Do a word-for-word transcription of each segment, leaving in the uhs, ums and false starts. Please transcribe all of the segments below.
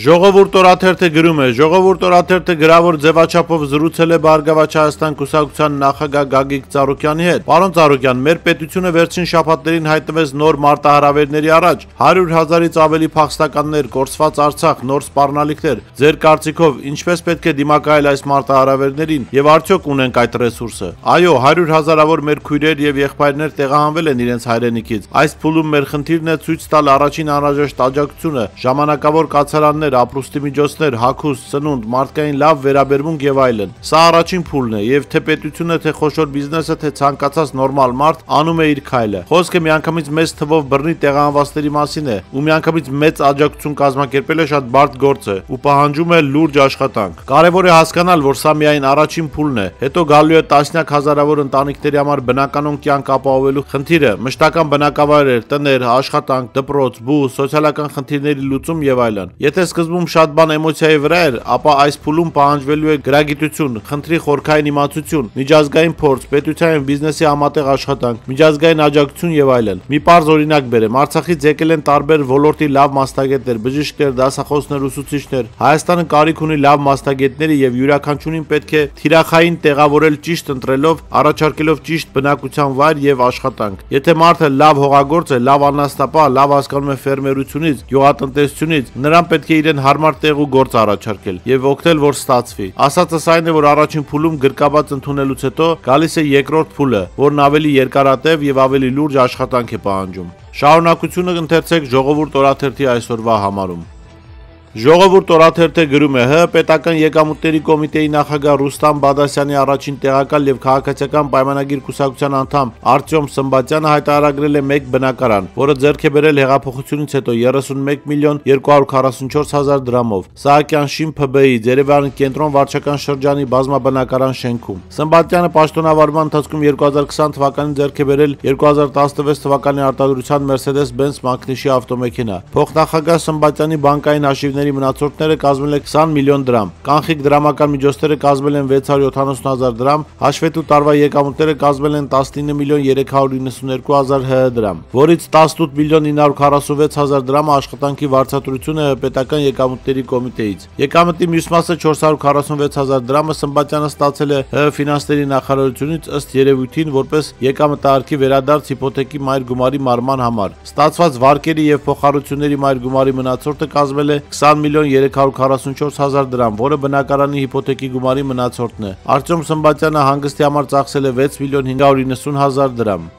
Ժողովուրդ օրաթերթը գրում է. Ժողովուրդ օրաթերթը գրավոր ձևաչափով զրուցել է Բարգավաճ Հայաստան կուսակցության նախագահ Գագիկ Ծառուկյանի հետ։ Պարոն Ծառուկյան, մեր պետությունը վերջին շաբաթներին հայտնվեց նոր մարտահրավերների առաջ։ հարյուր հազարից ավելի փախստականներ, կորսված Արցախ, նոր սպառնալիքներ։ Ձեր կարծիքով ինչպես պետք է դիմակայել այս մարտահրավերներին եւ արդյոք ունենք այդ ռեսուրսը։ Այո, հարյուր հազարավոր մեր քույրեր եւ եղբայրներ տեղահանվել են իրենց հայրենիքից։ Այս փուլում մեր խնդիրն է ցույց տալ առաջին անհրաժեշտ աջակցությունը, ժամանակավոր կացարաններ, ապրուստի միջոցներ, հագուստ, սնունդ, մարդկային լավ վերաբերմունք եւ այլն։ Սա առաջին փուլն է եւ թե պետությունը, թե խոշոր բիզնեսը, թե ցանկացած նորմալ մարդ անում է իր քայլը։ Խոսքը միանգամից մեծ թվով բռնի տեղահանվածների մասին է, ու միանգամից մեծ աջակցություն կազմակերպելը շատ բարդ գործ է ու պահանջում է լուրջ աշխատանք։ Կարևոր է հասկանալ, որ սա միայն առաջին փուլն է, հետո գալու է տասնյակ հազարավոր ընտանիքների համար բնականon կյանք ապահովելու խնդիրը, մշտական բնակավայրեր, տներ, աշխատանք, դպրոց, բուժ, սոցիալական խնդիրների լուծում եւ այլն։ Եթե սկզբում շատ բան էմոցիայի վրա էր, ապա այս փուլում պահանջվելու է գրագիտություն, խնդրի խորքային իմացություն, միջազգային փորձ, պետության եւ բիզնեսի համատեղ աշխատանք, միջազգային աջակցություն եւ այլն։ Մի պարզ օրինակ բերեմ, Արցախից եկել են տարբեր ոլորտի լավ մասնագետներ, բժիշկներ, դասախոսներ, ուսուցիչներ։ Հայաստանը կարիք ունի լավ մասնագետների եւ յուրաքանչյուրին պետք է թիրախային տեղավորել ճիշտ ընտրելով, առաջարկելով ճիշտ բնակության վայր եւ աշխատանք։ Եթե մարդը լավ հողագործ է, լավ անասնապահ, լավ հասկանում է ֆերմերությունից, գյուղատնտեսությունից, նրան պետք է իրեն հարմար տեղ ու գործ առաջարկել եւ օգնել, որ ստացվի։ Ասածս այն է, որ առաջին փուլում գրկաբաց ընդունելուց հետո գալիս է երկրորդ փուլը, որն ավելի երկարատև եւ ավելի լուրջ աշխատանք է պահանջում։ Շարունակությունը ընթերցեք Ժողովուրդ օրաթերթի այսօրվա համարում։ Ժողովուրդ օրաթերթը գրում է. ՀՀ պետական եկամուտների կոմիտեի նախագահ Ռուստամ Բադասյանի առաջին տեղակալ եւ քաղաքացիական պայմանագիր կուսակցության անդամ Արտյոմ Սմբատյանը հայտարարել է մեկ բնակարան, որը ձեռք է բերել հեղափոխությունից հետո երեսունմեկ միլիոն երկու հարյուր քառասունչորս հազար դրամով Սահակյան շին ՓԲ-ի Երևանի կենտրոն վարչական շրջանի բազմաբնակարան շենքում։ Սմբատյանը պաշտոնավարման ընթացքում երկու հազար քսան թվականին ձեռք է բերել երկու հազար տասնվեց թվականի արտադրության Mercedes-Benz Magnus ավտոմեքենա։ Փոխնախագահ Սմբատյանի բանկային հաշիվներ մնացորդները կազմել են քսան միլիոն դրամ, կանխիկ դրամական միջոցները կազմել են վեց հարյուր յոթանասուն հազար դրամ, հաշվետու տարվա եկամուտները կազմել են տասնինը միլիոն երեք հարյուր իննսունյոթ հազար ՀՀ դրամ, որից տասնութ միլիոն ինը հարյուր քառասունվեց հազար դրամը աշխատանքի վարձատրությունը պետական եկամուտների կոմիտեից։ Եկամտի մյուս մասը չորս հարյուր քառասունվեց հազար դրամը Սմբատյանը ստացել է ՀՀ ֆինանսների նախարարությունից ըստ երևույթին որպես եկամտահարկի վերադարձ հիփոթեքի մայր գումարի մարման համար։ Ստացված վարկերի եւ փոխառությունների մայր գումարի մնացորդը կազմել է քսան միլիոն երեք հարյուր քառասունչորս հազար դրամ, որը բնակարանի հիփոթեքի գումարի մնացորդն է։ Արտյոմ Սմբատյանը հանգստի համար ծախսել է վեց միլիոն հինգ հարյուր իննսուն հազար դրամ։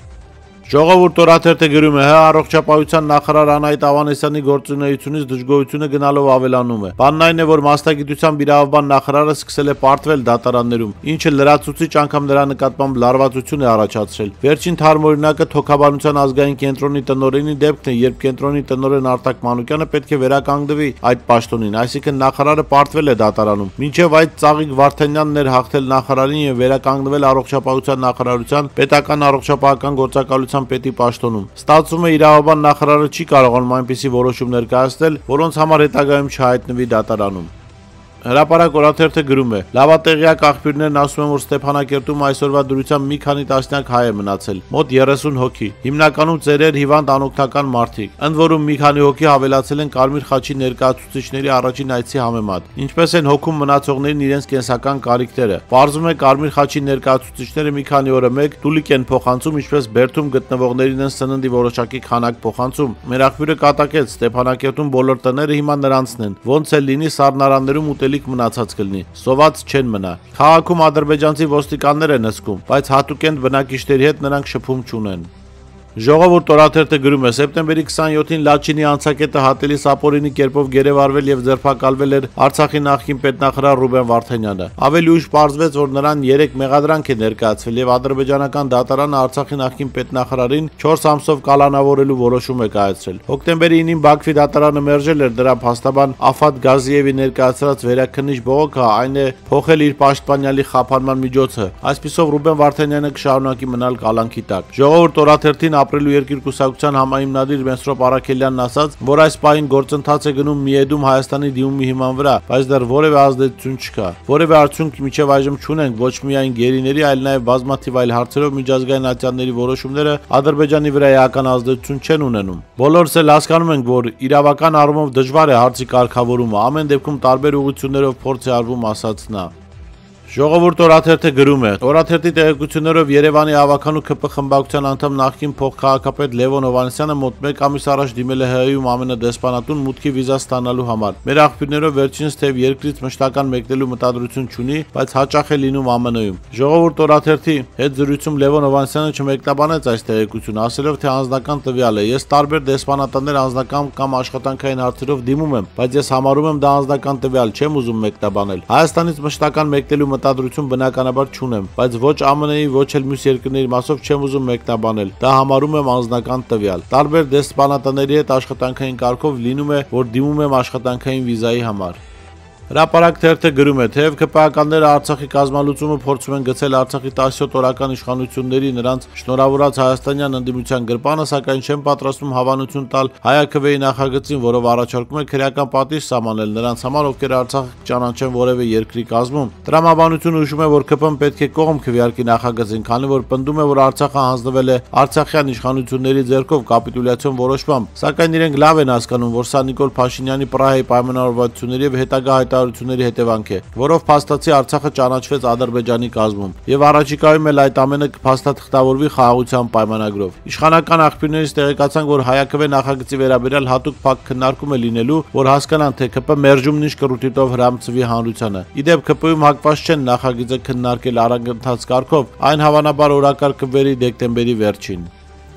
Ժողովուրդ օրաթերթը գրում է. ՀՀ առողջապահության նախարար Անահիտ Ավանեսյանի գործունեությունից դժգոհությունը գնալով ավելանում է։ Բանն այն է, որ մասնագիտությամբ իրավաբան նախարարը սկսել է պարտվել դատարաններում, ինչը լրացուցիչ անգամ նրա նկատմամբ լարվածություն է առաջացրել։ Վերջին թարմօրինակը Թոքաբանության ազգային կենտրոնի տնօրենի դեպքն է, երբ կենտրոնի տնօրեն Արտակ Մանուկյանը պետք է վերականգնվի այդ պաշտոնին, այսինքն նախարարը պարտվել է դատարանում։ Մինչև այդ Ծաղիկ Վարդանյանն էր հաղթել նախարարին եւ վերականգնվել առողջապահության նախարարության պետական առողջապահական գործակալության պետի պաշտոնում։ Ստացվում է իրավաբան նախարարը չի կարողանում այնպիսի որոշումներ կայացնել, որոնց համար հետագայում չհայտնվի դատարանում։ Հրապարակ օրաթերթը գրում է. Լավատեղյակ աղբյուրներն ասում են, որ Ստեփանակերտում այսօրվա դրությամբ մի քանի տասնյակ հայ է մնացել, մոտ երեսուն հոգի, հիմնականում ծերեր, հիվանդ, անօգնական մարդիկ, ընդ որում մի քանի հոգի հավելացել են Կարմիր խաչի ներկայացուցիչների առաջին այցի համեմատ, ինչպես են հոգում մնացողներին իրենց կենսական կարիքները։ Պարզվում է Կարմիր խաչի ներկայացուցիչները մի քանի օրը մեկ տուլիկ են փոխանցում, ինչպես Բերդում գտնվողներին են սննդի որոշակի քանակ փոխանցում։ Մեր աղբյուրը կատակեց Ստեփանակերտում բոլոր տները հիմա նրանցն են, ոնց էլ լինի սառնարաններում ուտել մնացած կլինի, սոված չեն մնա։ Քաղաքում ադրբեջանցի ոստիկաններ են հսկում, բայց հատուկենտ բնակիչների հետ նրանք շփում չունեն։ Ժողովուրդ օրաթերթը գրում է. Սեպտեմբերի քսանյոթին Լաչինի անցակետը հատելի սապորինի կերպով գերեվարվել եւ ձերբակալվել էր Արցախի նախկին պետնախարար Ռուբեն Վարդանյանը։ Ավելի ուշ պարզվեց, որ նրան երեք մեղադրանք է ներկայացվել եւ ադրբեջանական դատարանը Արցախի նախկին պետնախարարին չորս ամսով կալանավորելու որոշում է կայացրել։ Հոկտեմբերի ինին Բաքվի դատարանը մերժել էր դրա փաստաբան Աֆատ Գազիևի ներկայացրած վերաքննիչ բողոքը, այն է փոխել իր պաշտպանյալի խափանման միջոցը։ Այսպիսով Ռուբեն Վարդանյանը կշարունակի մնալ կալանքի տակ։ Ժողովուրդ օրաթերթին ապրելու երկիր կուսակցության համահիմնադիր Մեսրոպ Արաքելյանն ասաց, որ այս պահին գործընթաց է գնում Միեդում Հայաստանի դիմումի հիման վրա, բայց դեռ որևէ ազդեցություն չկա։ Որևէ արդյունք մինչև այժմ չունենք ոչ միայն գերիների, այլ նաև բազմաթիվ այլ հարցերով միջազգային ատյանների որոշումները Ադրբեջանի վրա էական ազդեցություն չեն ունենում։ Բոլորս էլ հասկանում ենք, որ իրավական առումով դժվար է հարցի կարգավորումը, ամեն դեպքում տարբեր ուղղություններով փորձ է արվում, ասաց նա։ Ժողովուրդ օրաթերթը գրում է. Օրաթերթի տեղեկություններով Երևանի ավականու ՔՊ խմբակցության անդամ նախկին փոխքաղաքապետ Լևոն Հովհաննիսյանը մոտ մեկ ամիս առաջ դիմել է ՀՀ-ում ԱՄՆ-դեսպանատուն մուտքի վիզա ստանալու համար։ Մեր աղբյուրներով վերջինս թեև երկրից մշտական մեկնելու մտադրություն չունի, բայց հաճախ է լինում ԱՄՆ-ում։ Ժողովուրդ օրաթերթի հետ զրույցում Լևոն Հովհաննիսյանը չմեկնաբանեց այս տեղեկությունը, ասելով, թե անձնական տվյալ է։ Ես տարբեր դեսպանատներ անձնական կամ աշխատանքային հարցերով դիմում եմ, բայց ես համարում եմ դա անձնական տվյալ, չեմ ուզում մեկնաբանել։ Հայաստանից մշտական մեկնելու մտադրություն բնականաբար չունեմ, բայց ոչ ԱՄՆ-ի, ոչ էլ մյուս երկրների մասով չեմ ուզում մեկնաբանել։ Դա համարում եմ անձնական տվյալ։ Տարբեր դեսպանատների հետ աշխատանքային կարգով լինում է, որ դիմում եմ աշխատանքային վիզայի համար։ Հրապարակ թերթը գրում է, թեև ԿՊԱ-ականները Արցախի կազմալուծումը փորձում են գցել Արցախի տասնյոթ օրական իշխանությունների նրանց շնորհավորած հայաստանյան ընդդիմության գրպանը, սակայն չեն պատրաստվում հավանություն տալ Հայ-ԱՔՎ-ի նախագծին, որով առաջարկում է քրեական պատիժ սահմանել նրանց համար, ովքեր Արցախը ճանաչեն որևէ երկրի կազմում։ Տրամաբանությունը հուշում է, որ ԿՊ-ն պետք է կողմ քվեարկի նախագծին, քանի որ պնդում է, որ Արցախը հանձնվել է արցախյան իշխանությունների ձեռքով կապիտուլյացիոն որոշմամբ, սակայն իրենք լավ են հասկանում, որ սա Նիկոլ Փաշինյանի Պրահայի պայմանավորվածությունների եւ հետագա հայտարարությունների հետևանք է, որով փաստացի Արցախը ճանաչվեց Ադրբեջանի կազմում, եւ առաջիկայում էլ այդ ամենը կփաստաթղթավորվի խաղաղության պայմանագրով։ Իշխանական աղբյուրներից տեղեկացանք, որ Հայ-ԱՔՎ նախագծի վերաբերյալ հատուկ փակ քննարկում է լինելու, որ հասկանան, թե ԿՊ մերժումն ինչ կրուտիտով հրամցվի հանրությանը։ Իդեպ ԿՊ-ում հակված չեն նախագիծը քննարկել առանձնաց կարգով, այն հավանաբար օրակարգ կվերի դեկտեմբերի վերջին։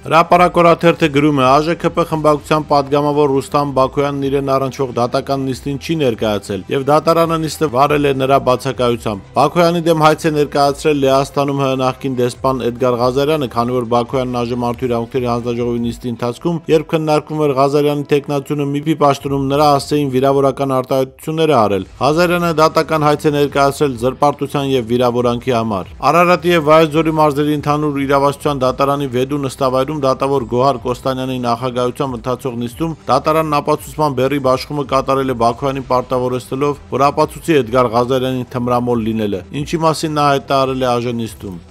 Հրապարակ օրաթերթը գրում է. ԱԺ-ՔՊ խմբակցության падգամավոր Ռուստամ Բաքոյանն իրեն առնչվող դատական նիստին չի ներկայացել եւ դատարանը նիստը վարել է նրա բացակայությամբ։ Բաքոյանի դեմ հայց է ներկայացրել Լեհաստանում ՀՀ նախկին դեսպան Էդգար Ղազարյանը, քանի որ Բաքոյանն ԱԺ մարդու իրավունքների հանձնաժողովի նիստի ընթացքում, երբ քննարկվում էր Ղազարյանի տեխնատությունը ՄԻՊ-ի պաշտոնում, նրա հասցեին վիրավորական արտահայտություններ է արել։ Ղազարյանը դատական հայց է ներկայացրել զրպարտության եւ վիրավորանքի համար։ Արարատի եւ Վայոց-Ձորի մարզերի ընդհանուր իրավասության դատարանի վեդու նստավայրում դատավոր Գոհար Կոստանյանի նախագահությամբ ընթացող նիստում դատարանն ապացուցման բեռի բաշխումը կատարել է Բաքոյանին պարտավորեցնելով, որ ապացուցի Էդգար Ղազարյանի թմրամոլ լինելը, ինչի մասին նա հայտարարել է ԱԺ նիստում։